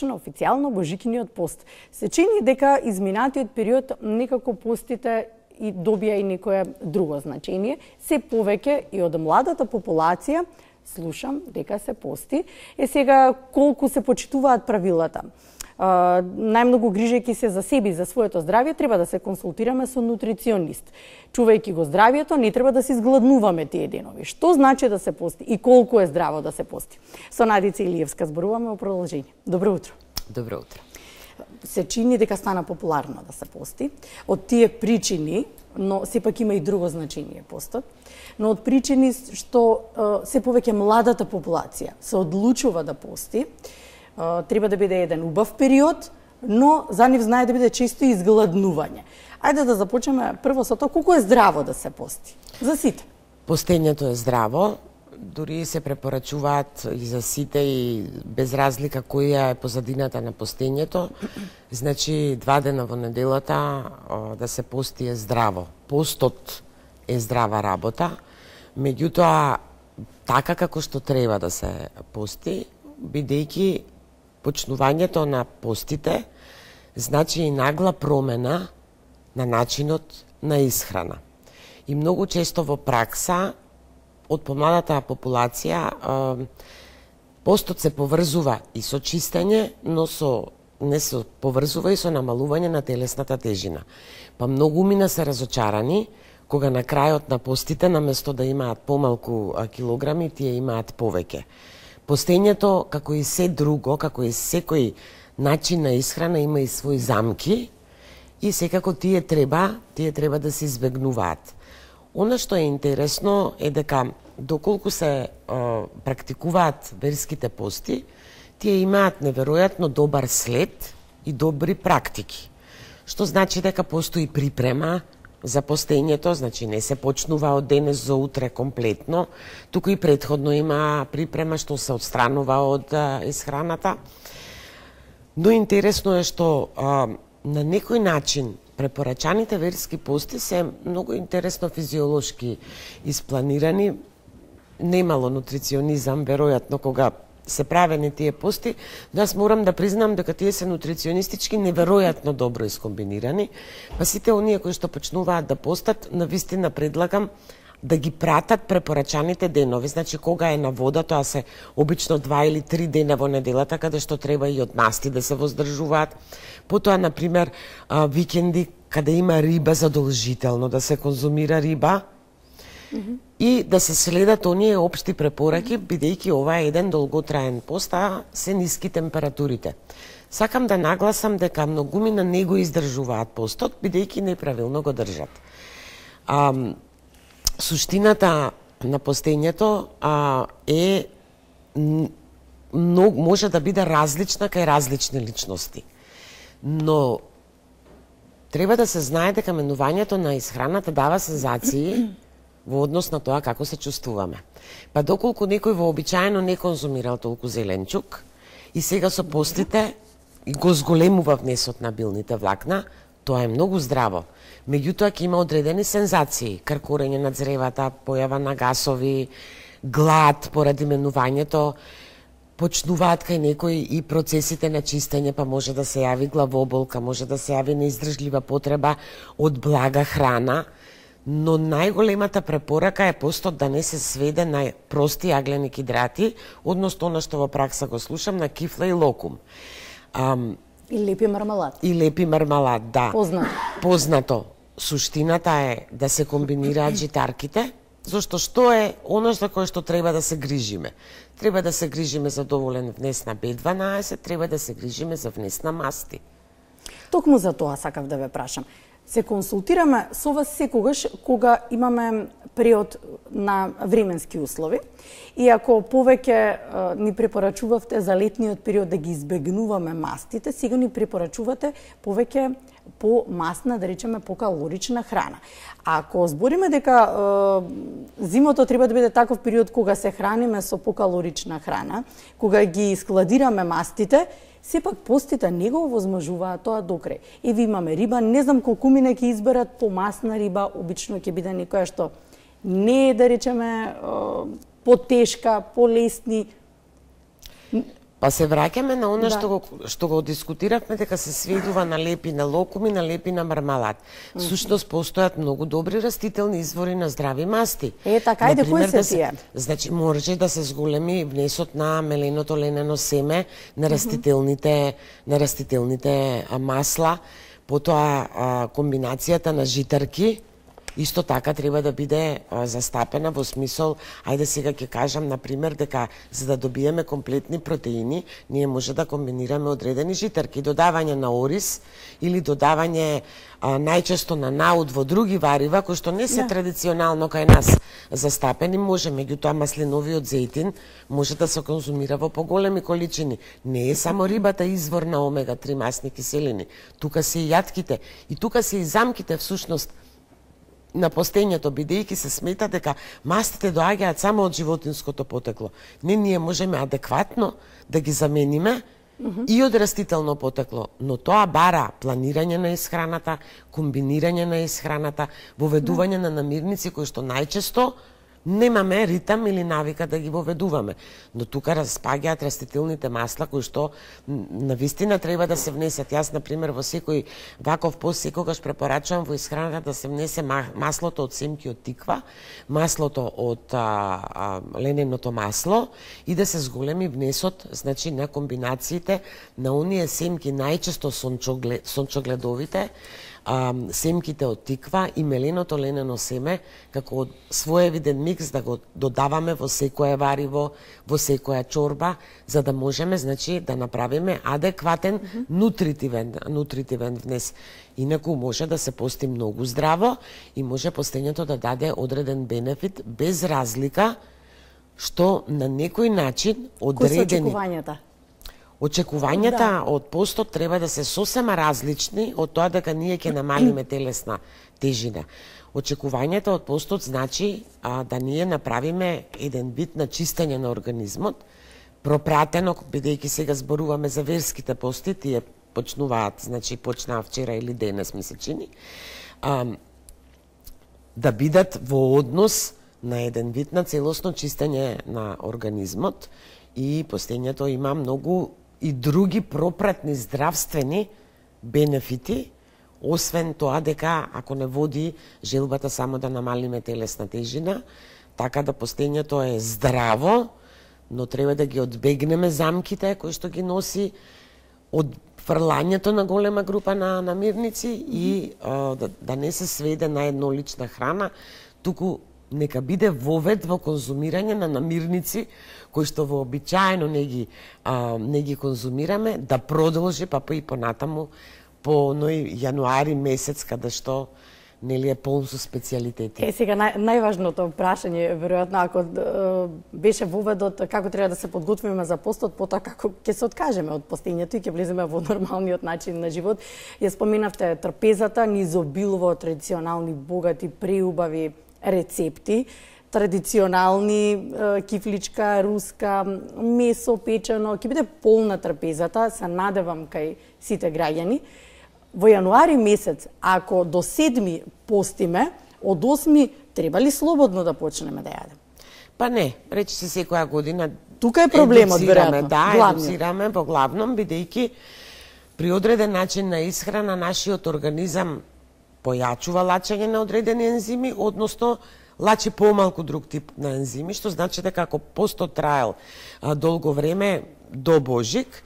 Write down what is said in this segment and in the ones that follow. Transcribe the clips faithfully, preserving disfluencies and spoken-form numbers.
На официјално Божикиниот пост. Се чини дека изминатиот период некако постите и добија и некое друго значење, се повеќе и од младата популација слушам дека се пости. Е сега колку се почитуваат правилата. Uh, најмногу грижејќи се за себе и за своето здравје, треба да се консултираме со нутриционист. Чувајќи го здравјето, не треба да се изгладнуваме тие денови. Што значи да се пости и колку е здраво да се пости? Со Надица Илиевска зборуваме о продолжение. Добро утро. Добро утро. Се чини дека стана популарно да се пости. Од тие причини, но сепак има и друго значење постот, но од причини што uh, се повеќе младата популација се одлучува да пости, треба да биде еден убав период, но за нив знае да биде често изгладнување. Ајде да започнеме прво со тоа колку е здраво да се пости. За сите. Постењето е здраво, дури се препорачуваат и за сите и без разлика која е позадината на постењето. Значи два дена во неделата да се пости е здраво. Постот е здрава работа, меѓутоа така како што треба да се пости, бидејќи почнувањето на постите значи и нагла промена на начинот на исхрана. И многу често во пракса од помладата популација постот се поврзува и со чистење, но со не се поврзува и со намалување на телесната тежина. Па многу мина се разочарани кога на крајот на постите наместо да имаат помалку килограми, тие имаат повеќе. Постењето, како и се друго, како и секој начин на исхрана, има и своји замки и секако тие треба, тие треба да се избегнуваат. Она што е интересно е дека доколку се е, практикуваат верските пости, тие имаат неверојатно добар след и добри практики. Што значи дека постои припрема за постењето, значи не се почнува од денес за утре комплетно, туку и претходно има припрема што се отстранува од а, исхраната. Но интересно е што а, на некој начин препорачаните верски пости се многу интересно физиолошки испланирани. Немало нутриционизам, веројатно, кога се правени тие пости, но јас морам да признам дека тие се нутриционистички неверојатно добро искомбинирани, па сите оние кои што почнуваат да постат, навистина предлагам да ги пратат препорачаните денови, значи кога е на вода, тоа се обично два или три дена во неделата, каде што треба и од масти да се воздржуваат. Потоа, например, викенди, каде има риба, задолжително да се конзумира риба, mm-hmm. и да се следат оние општи препораки, бидејќи ова е еден долготраен пост, а се ниски температурите. Сакам да нагласам дека многумина не го издржуваат постот, бидејќи неправилно го држат. А, суштината на постењето а, е многу, може да биде различна кај различни личности. Но треба да се знае дека менувањето на исхраната дава сензации во однос на тоа како се чувствуваме. Па доколку некој вообичаено не конзумирал толку зеленчук и сега со постите и го зголемува внесот на билните влакна, тоа е многу здраво. Меѓутоа ќе има одредени сензации, кркорење на цревата, појава на гасови, глад поради менувањето, почнуваат кај некои и процесите на чистење, па може да се јави главоболка, може да се јави неиздржлива потреба од блага храна, но најголемата препорака е постот да не се сведе на прости јаглени хидрати, односно она што во пракса го слушам на кифла и локум. Ам, И лепи мармалад. И лепи мармалад, да. Познато. Познато. Суштината е да се комбинираат житарките, зашто што е оно за кое што треба да се грижиме. Треба да се грижиме за доволен внес на Б дванаесет, треба да се грижиме за внес на масти. Токму за тоа сакав да ве прашам. Се консултираме со вас секогаш кога имаме период на временски услови и ако повеќе ни препорачувавте за летниот период да ги избегнуваме мастите, сега ни препорачувате повеќе по масна, да речеме по калорична храна. А ако збориме дека е, зимото треба да биде таков период кога се храниме со покалорична храна, кога ги складираме мастите, сепак постите не го овозможуваат тоа докрај. И ви имаме риба, не знам колку мине ќе изберат помасна риба, обично ќе биде некоја што не е, да речеме, потешка, полесни. Па се враќаме на она Да. што го што го дискутиравме, дека се сведува на лепи на локуми, на лепи на мармалад. Всушност постојат многу добри растителни извори на здрави масти. Е, така, ајде, кои Например, се да се- тие? Значи може да се зголеми внесот на меленото ленено семе, на растителните на растителните а, масла, потоа а, комбинацијата на житарки исто така треба да биде а, застапена во смисол, ајде сега ќе кажам на пример дека за да добиеме комплетни протеини, ние може да комбинираме одредени житарки, додавање на ориз или додавање а, најчесто на наут во други варива кои што не се Да. традиционално кај нас застапени, може меѓутоа маслиновиот зејтин може да се конзумира во поголеми количини. Не е само рибата извор на омега три масни киселини, тука се и јатките и тука се и замките всушност на постењето, бидејќи се смета дека мастите доаѓаат само од животинското потекло. Не, ние можеме адекватно да ги замениме и од растително потекло, но тоа бара планирање на исхраната, комбинирање на исхраната, воведување на намирници кои што најчесто немаме ритам или навика да ги воведуваме. Но тука распаѓаат растителните масла кои што м, навистина треба да се внесат. Јас, на пример, во секој ваков пост секогаш препорачувам во исхраната да се внесе ма- маслото од семки од тиква, маслото од а, а, лененото масло и да се зголеми внесот, значи на комбинациите на оние семки најчесто сончогле, сончогледовите, а, семките од тиква и меленото ленено семе како своевиден микс да го додаваме во секое вариво, во секоја чорба, за да можеме значи да направиме адекватен mm -hmm. нутритивен нутритивен внес. Инаку може да се пости многу здраво и може постењето да даде одреден бенефит без разлика што на некој начин Кои се одредени очекувањата? Очекувањата Да. од постот треба да се сосема различни од тоа дека ние ќе намалиме телесна тежина. Очекувањата од постот значи а, да ние направиме еден вид на чистење на организмот, пропратено, бидејќи сега зборуваме за верските пости, тие почнуваат, значи почнаа вчера или денес ми се чини, а, да бидат во однос на еден вид на целосно чистење на организмот и постењето има многу и други пропратни здравствени бенефити, освен тоа дека ако не води желбата само да намалиме телесна тежина, така да постењето е здраво, но треба да ги одбегнеме замките кои што ги носи од фрлањето на голема група на намирници и а, да, да не се сведе на еднолична храна, туку нека биде вовед во конзумирање на намирници кои што вообичаено не ги а, не ги конзумираме, да продолжи па и понатаму по ној јануари месец каде што нели е полн со специјалитети. Е, сега нај, најважното прашање, веројатно, ако е, беше воведот како треба да се подготвиме за постот, потоа како ќе се откажеме од постењето и ќе влеземе во нормалниот начин на живот. Ја споменавте трпезата, ни изобилува од традиционални, богати, преубави рецепти, традиционални, е, кифличка, руска, месо печено, ќе биде полна трпезата, се надевам кај сите граѓани. Во јануари месец, ако до седми постиме, од осми треба ли слободно да почнеме да јадеме? Па не, речи се секоја година. Тука е проблемот, едуцираме, веројатно. да, главниот. едуцираме во главном, бидејќи при одреден начин на исхрана нашиот организам појачува лачење на одредени ензими, односно лачи помалку друг тип на ензими, што значи дека ако постот траел а, долго време до Божик,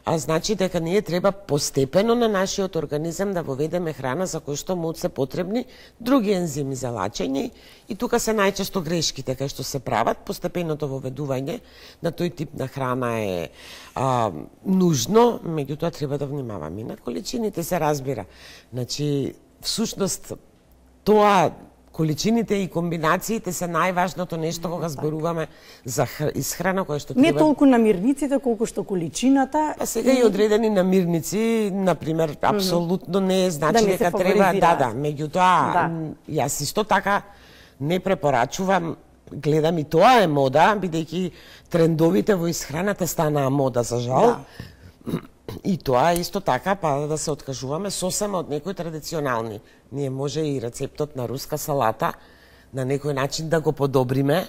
а значи дека ние треба постепено на нашиот организам да воведеме храна за кој што му се потребни други ензими за лачење и тука се најчесто грешките кај што се прават. Постепеното воведување на тој тип на храна е а, нужно, меѓутоа треба да внимаваме. На количините се разбира. Значи, всушност, тоа количините и комбинациите се најважното нешто кога зборуваме за исхрана која што Не треба... толку намирниците, колку што количината. А сега и одредени намирници, например, апсолутно не значи Да не се дека треба, да, фаворизираат. да, меѓутоа, Да. м, јас исто така не препорачувам, гледам и тоа е мода, бидејќи трендовите во исхраната станаа мода, за жал. Да. И тоа е исто така, па да се откажуваме сосема од некои традиционални. Ние може и рецептот на руска салата на некој начин да го подобриме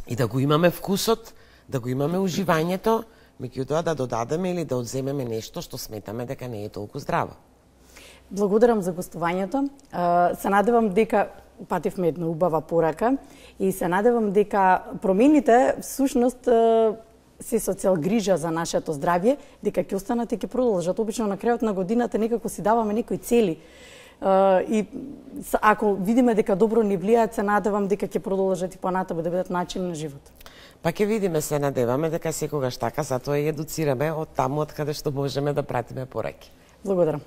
и да го имаме вкусот, да го имаме уживањето, меѓутоа да додадеме или да одземеме нешто што сметаме дека не е толку здраво. Благодарам за гостувањето. Се надевам дека пативме една убава порака и се надевам дека промените всушност се со цел грижа за нашето здравје, дека ќе останат и ќе продолжат. Обично на крајот на годината некако си даваме некои цели и ако видиме дека добро ни влијаат, се надевам дека ќе продолжат и понатаму да бидат начин на живот. Па ќе видиме, се надеваме дека секогаш така, затоа и едуцираме од таму од каде што можеме да пратиме пораки. Благодарам.